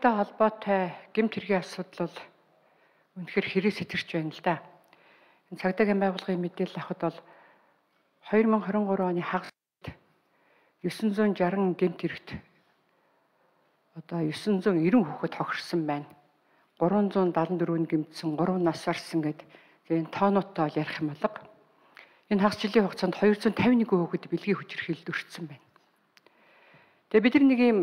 холбоотой гэмт хэргийн асуудал бол үнэхээр хэрэг сэтэрч байна л да. Энэ цагдаагийн байгууллагын мэдээлэл авахад бол 2023 оны хагас 960 гэмт хэрэгт одоо 990 хүүхэд хохирсон байна. 374 нь гэмтсэн, 3 нас барсан гэдэг энэ тоонуудтай бол ярих юм болго. Энэ хагас жилийн хугацаанд 251 хүүхэд бэлгийн хүчирхийлэлд өртсөн байна. Тэгээ бид нэг юм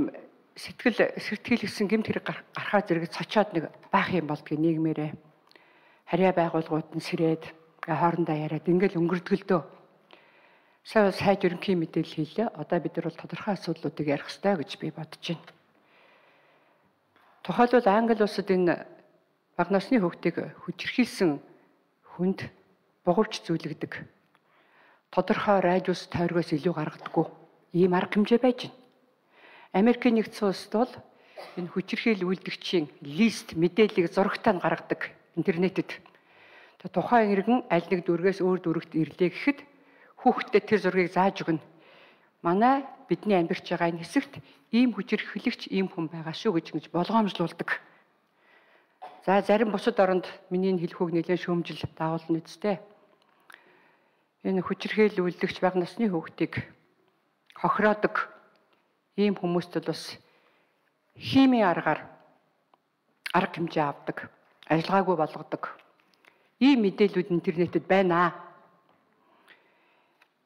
сэтгэлгэсэн гэмт хэрэг гарахаа зэрэг цочоод нэг баах юм болдгийг нийгмээрээ харьяа байгууллагууд нь сэрээд хоорондоо яриад ингээл өнгөрдгөлдөө сайд ерөнхий мэдээлэл хийлээ. Одоо бид нар бол тодорхой асуудлуудыг ярих хэрэгтэй гэж би бодож байна. Тухайлбал Англи улсад энэ бага насны хүүхдийг хүчирхийлсэн хүнд бугавч зүйлэгдэг. Тодорхой радиус тойргоос илүү гаргадаггүй ийм арга хэмжээ байж байна. Америкийн нэгдсэн улсад бол энэ хүчирхийлэл үйлдэгчийн лист мэдээллийг зурагтаа гаргадаг интернетэд. Тухайн иргэн аль нэг дүргээс өөр дүрэгт ирлээ гэхэд хүүхдэд тэр зургийг зааж өгнө. Манай бидний амьдарч байгаа энэ хэсэгт ийм хүчирхийлэгч ийм хүн байгаа шүү гэж болгоомжлуулдаг. За зарим бусад оронд миний хэлхүүг нэлээд шөөмжил дагуулна үстэй. Энэ хүчирхийлэл үйлдэгч бага насны хүүхдийг хохироодог ийм хүмүүст бас химийн арга хэмжээ авдаг, ажиллагаагүй болгодог. Ийм мэдээлүүд интернетэд байна.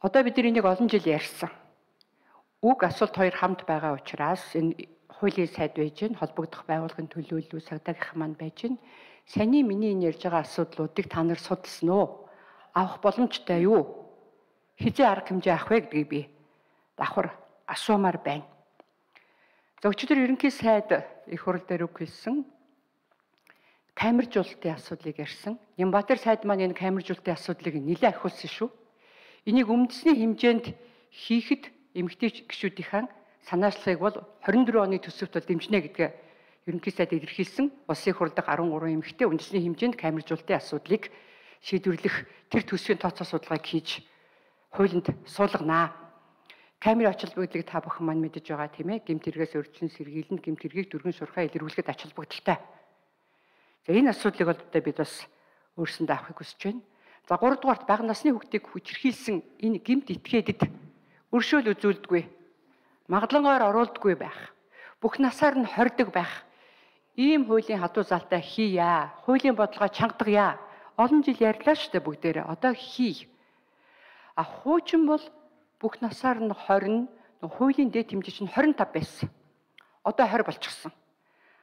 Одоо бид энийг олон жил ярьсан. Уг асуулт хоёр хамт байгаа учраас энэ хуулийн сайд байж гэн холбогдох байгууллагын төлөөлөл цагдаагийнх маань байж гэн. Саний миний энэ ярьж байгаа асуудлуудыг та нар судалсан уу? Авах боломжтой юу? Хизээ арга хэмжээ авах вэ гэдгийг би давхар асуумаар байна. За өчигдөр ерөнхий сайд их хурал дээр үг хэлсэн камержуулалтын асуудлыг ярьсан. Нямбатар сайд маань энэ камержуулалтын асуудлыг нэлээд ахиулсан шүү. Энийг үндэсний хэмжээнд хийхэд эмэгтэй гишүүдийнхэн санаачлагыг бол 24 оны төсөвт бол дэмжинэ гэдгээ ерөнхий сайд илэрхийлсэн. Улсын хурлд 13 эмэгтэй үндэсний хэмжээнд камержуулалтын асуудлыг шийдвэрлэх тэр төсвийн тооцоо судалгааг хийж хуулинд суулганаа. Камерын ач холбогдлыг та бүхэн маань мэдэж байгаа тийм ээ. Гэмт хэрэгээс урьдчилан сэргийлэн гэмт хэргийг дүргэн шуурхай илэрхийлэхэд ач холбогдолтой. За энэ асуудлыг бол бид бас өөрсөндөө авахыг хүсэж байна. За 3 дугаарт бага насны хүүхдийг хүчирхийлсэн энэ гэмт этгээдэд өршөөл үзүүлдэггүй, магадлангойр оруулдаггүй байх, бүх насаар нь хордог байх. Ийм хуулийн хадуу залтай хийя. Хуулийн бодлогоо чангадгая. Олон жил ярьлаа шүү дээ бүгдээрээ. Одоо хий. Хуучин бол бүх насаар нь 20, хуулийн дээд хэмжээ чинь 25 байсан. Одоо 20 болчихсон.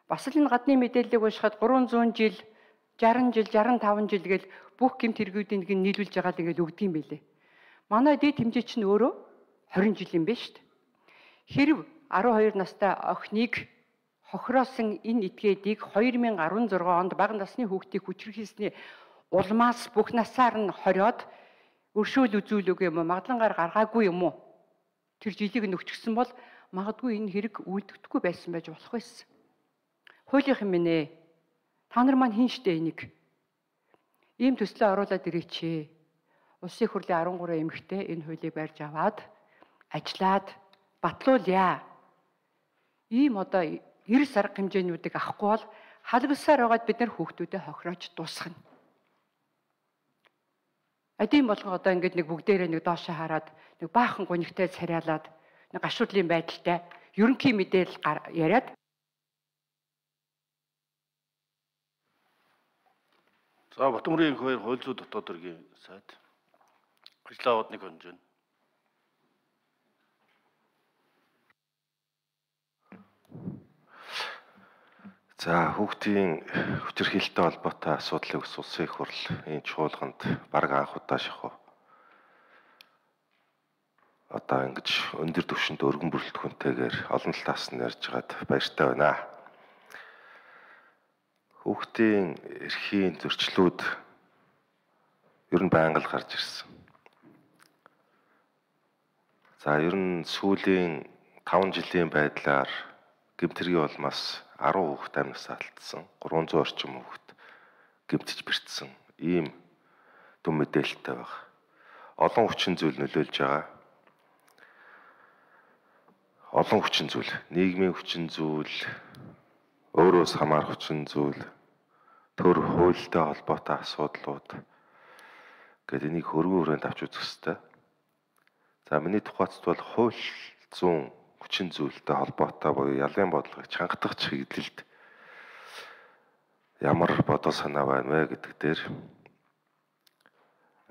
Бас л энэ гадны мэдээллийг уншихад 300 жил, 60 жил, 65 жил гэл бүх гэмт хэрэгүүдийг нийлүүлж байгаа л ингээд өгдөг юм билээ. Манай дээд хэмжээ чинь өөрөө 20 жил юм байна шүү дээ. Хэрв 12 настай охиныг хохироосон энэ этгээдийг 2016 онд бага насны хүүхдийг хүчирхийлсний улмаас бүх насаар нь хориод өршөөл үзүүлэг юм уу, магадлангаар гаргаагүй юм уу? Тэр жилиг нөгчгсөн бол магадгүй энэ хэрэг үйлдэхдэггүй байсан байж болох байсан. Хуулийнх юм нэ. Та нар маань хийн штэ энийг. Ийм төслөө оруулаад ирээч. Улсын хурлын 13 эмэгтэй энэ хуулийг барьж аваад ажиллаад батлуулъя. Ийм одоо эрс арга хэмжээнүүдийг авахгүй бол халбсаар байгаад бид нар хүүхдүүдэд хохироож дуусгана. Адийн болгоо одоо ингээд нэг бүгдээрээ нэг доошоо хараад нэг баахан гунигтай царайлаад нэг гашуудлын байдалтай ерөнхий мэдээлэл яриад. За Батмөрийн 2 хууль зүйн дотоод хэргийн сайд ажлаа аваад нэг хонж байна. За хүүхдийн хүчирхийлэлтэй холбоотой асуудлыг улсын их хурл энэ чуулганд бараг анх удаа шахав. Одоо ингэж өндөр түвшинд өргөн бүрэлдэхүүнтэйгээр олон талаас нь ярьж байгаад баяртай байна. Хүүхдийн эрхийн зөрчлүүд ер нь байнга л гарч ирсэн. За ер нь сүүлийн 5 жилийн байдлаар гэмт хэргийн улмаас 10 хүүхэд амьнасаа алдсан, 300 орчим хүүхэд гэмтэж бэртсэн ийм дүн мэдээлэлтэй байна. Олон хүчин зүйл нөлөөлж байгаа. Олон хүчин зүйл, нийгмийн хүчин зүйл, өөрөөс хамаарах хүчин зүйл, төр хуультай холбоотой асуудлууд гэдэг энийг хөргөн хүрээнд авч үзэх хэрэгтэй. За миний тухайд бол хууль зүүн хүчин зүйлтэй холбоотой буюу ялын бодлогыг чангадах чиглэлд ямар бодол санаа байна вэ гэдэг дээр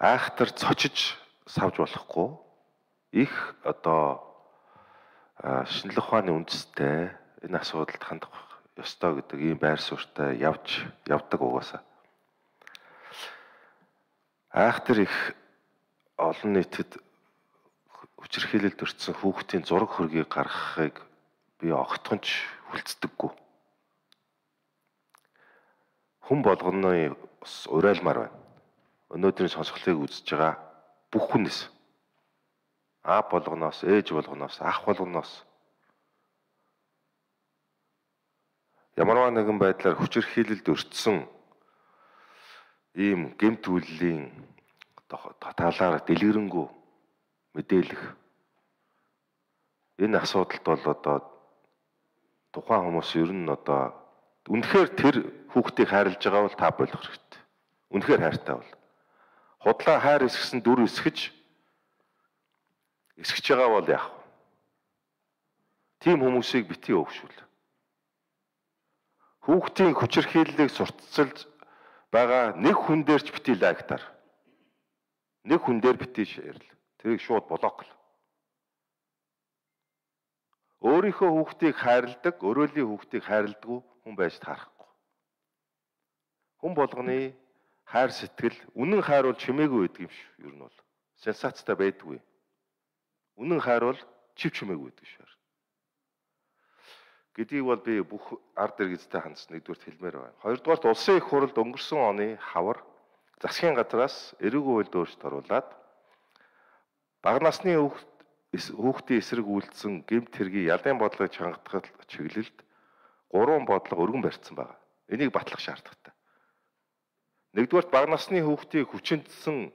айхтар цочиж савж болохгүй их шинжлэх ухааны үндэстэй энэ асуудалд хандах ёстой гэдэг ийм байр суурьтай явдаг угаасаа. Айхтар их олон нийтэд хүчирхийлэлд өртсөн хүүхдийн зураг хөргийг гаргахыг би огтхонч хүлцдэггүй. Хүн болгоны урайлмаар байна. Өнөөдрийн сонсголтыг үзэж байгаа бүх хүнээс аав болгоноос, ээж болгоноос, ах болгоноос ямарваа нэгэн байдлаар хүчирхийлэлд өртсөн ийм гэмт үйллийн талаар дэлгэрэнгүй мэдээлэх энэ асуудалд бол тухайн хүмүүс ер нь үнэхээр тэр хүүхдийг хайрлаж байгаа бол та болох хэрэгтэй. Үнэхээр хайртай бол. Худлаа хайр эсгсэн дүр эсгэж байгаа бол яах вэ? Тийм хүмүүсийг битгий өөгшүүл. Хүүхдийн хүчирхийллийг сурталчилж байгаа нэг хүн дээр ч битгий лайктаар. Нэг хүн дээр битгий шеэрл. Тэрийг шууд блокл. Өөрийнхөө хүүхдийг хайрладаг, өрөөлийн хүүхдийг хайрладаггүй хүн байж таарахгүй. Хүн болгоны хайр сэтгэл, үнэн хайр бол чимээгүй байдаг юм шүү. Ер нь бол сенсацтай байдгүй. Үнэн хайр бол чимээгүй байдаг шүү. Гэдгийг бол би бүх ард иргэдтэй хандсан нэгдүгürt хэлмээр байна. Хоёрдугаарт улсын их хурлд өнгөрсөн оны хавар засгийн газраас эрүүгийн хуульд өөрчлөлт оруулаад бага насны хүүхдийн эсрэг үйлдсэн гэмт хэргийн ялын бодлогыг чангадах чиглэлд 3 бодлого өргөн барьсан байна. Энийг батлах шаардлагатай. Нэгдүгээрт бага насны хүүхдийг хүчинтсэн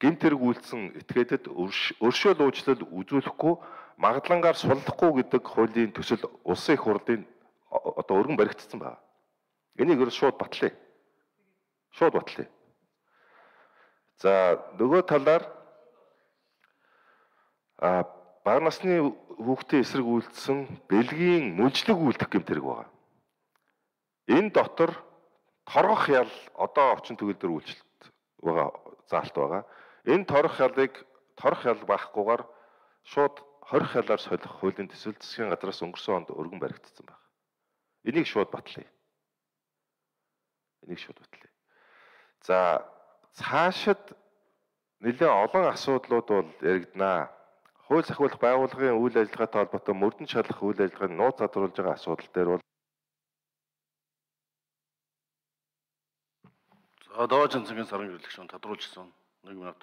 гэмт хэрэг үйлдсэн этгээдэд өршөөл уучлал үзүүлэхгүй магадлангаар суллахгүй гэдэг хуулийн төсөл улсын их хурлын өргөн баригдсан байна. Энийг шууд батлая. Шууд батлая. За нөгөө талаар бага насны хүүхдийн эсрэг үйлдсэн бэлгийн мөнжлөг үйлдэх гэмт хэрэг байна. Энэ дотор торгох ял одоо орчин төгөлдөр үйлчлэлт байгаа заалт байгаа. Энэ торгох ял багахгүйгээр шууд хорих ялаар солих хуулийн төсөл засгийн газраас өнгөрсөн онд өргөн баригдсан байна. Энийг шууд батлая. За цаашид нэлээд олон асуудлууд бол яригдана. Хууль сахиулах байгууллагын үйл ажиллагаатай холбоотой мөрдөн шалгах үйл ажиллагааны нууц задруулж байгаа асуудал дээр бол Доод Жанцгийн сарын гэрлэх шүүн тодруулжсэн 1 минут.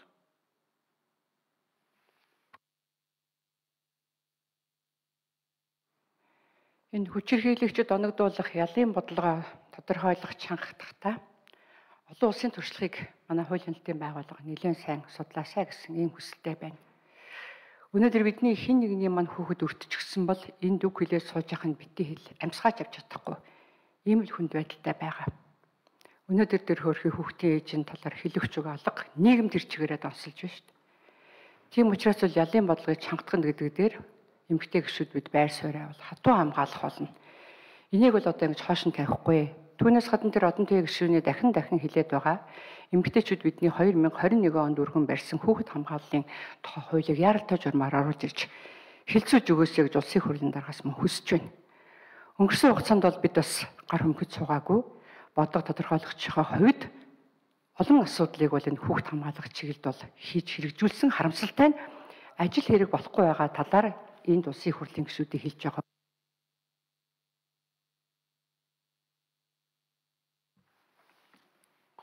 Энэ хүчирхийлэгчид оногдуулах ялын бодлогоо тодорхойлох чангахтаа олон улсын туршлагыг манай хуулийн хэлтийн байгууллага нэлээд сайн судлаасаа гэсэн ийм хүсэлтэй байна. Өнөөдөр бидний хэн нэгний маань хүүхэд өртчихсэн бол энд үг хэлээд сууж явах нь битгий хэл амьсгаач авч чадахгүй. Ийм л хүнд байдалтай байгаа. Өнөөдөр тэр хөөрхий хүүхдийн ээжийн талаар хэлэгч үг алга нийгэм тэр чигээрээ донсолж байна шүү дээ. Тийм учраас бол ялын бодлогыг чангадах гэдэг дээр эмэгтэй гишүүд бид байр сууриа бол хатуу хамгаалах болно. Энийг бол одоо ингэж хоош нь тавихгүй. Түүнээс гадна тэр одон төвийн гишүүний дахин хэлээд байгаа. Эмэгтэйчүүд бидний 2021 онд өргөн барьсан хүүхэд хамгааллын хуулийг яаралтай журмаар оруулж ирж хэлцүүж өгөөсэй гэж улсын хурлын дараагаас мөн хүсэж байна. Өнгөрсөн хугацаанд бол бид бас гар хөмгөж суугаагүй бодлого тодорхойлогчийн хувьд олон асуудлыг бол энэ хүүхэд хамгаалах чиглэлд бол хийж хэрэгжүүлсэн харамсалтай нь ажил хэрэг болохгүй байгаа талаар энд улсын хурлын гишүүдийг хэлж байгаа.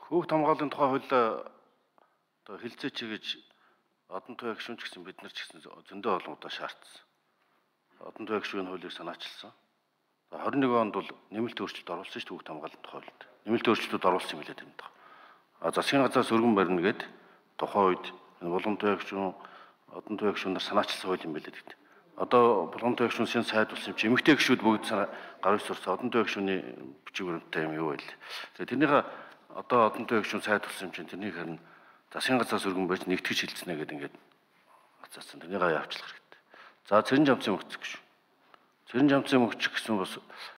Хүүхд хамгааллын тухай хуулиа хэлцээч гэж одон төвийн гишүүнч гэсэн бид нар ч гэсэн зөндөө олон удаа шаардсан. Одон төвийн гишүүний хуулийг санаачилсан. 21 онд бол нэмэлт өөрчлөлт оруулсан шүү дээ хүүхд хамгааллын тухай хуулинд. Нэмэлт өөрчлөлтүүд оруулсан юм билээ тийм дээ. Засгийн газраас өргөн барина гэд тухайн үед булган төвийн гишүүн, одон төвийн гишүүнээр санаачилсан хууль юм билээ гэдэг. одоо Булгамтай гишүүн сэн сайд болсон юм чи эмэгтэй гишүүд бүгд гар ус сурсан одонтой гишүүний бичиг баримттай юм юу вэ? Тэгээ тэрнийхээ одоо одонтой гишүүн сайд болсон юм чинь тэрнийг харин засгийн газраас өргөн байж нэгтгэж хилцнэ гэдэг ингээд гацаасан. Тэрнийг явуулах хэрэгтэй. За цэрэн жамцын мөхцөх гишүүн. Цэрэн жамцын мөхчих гэсэн бас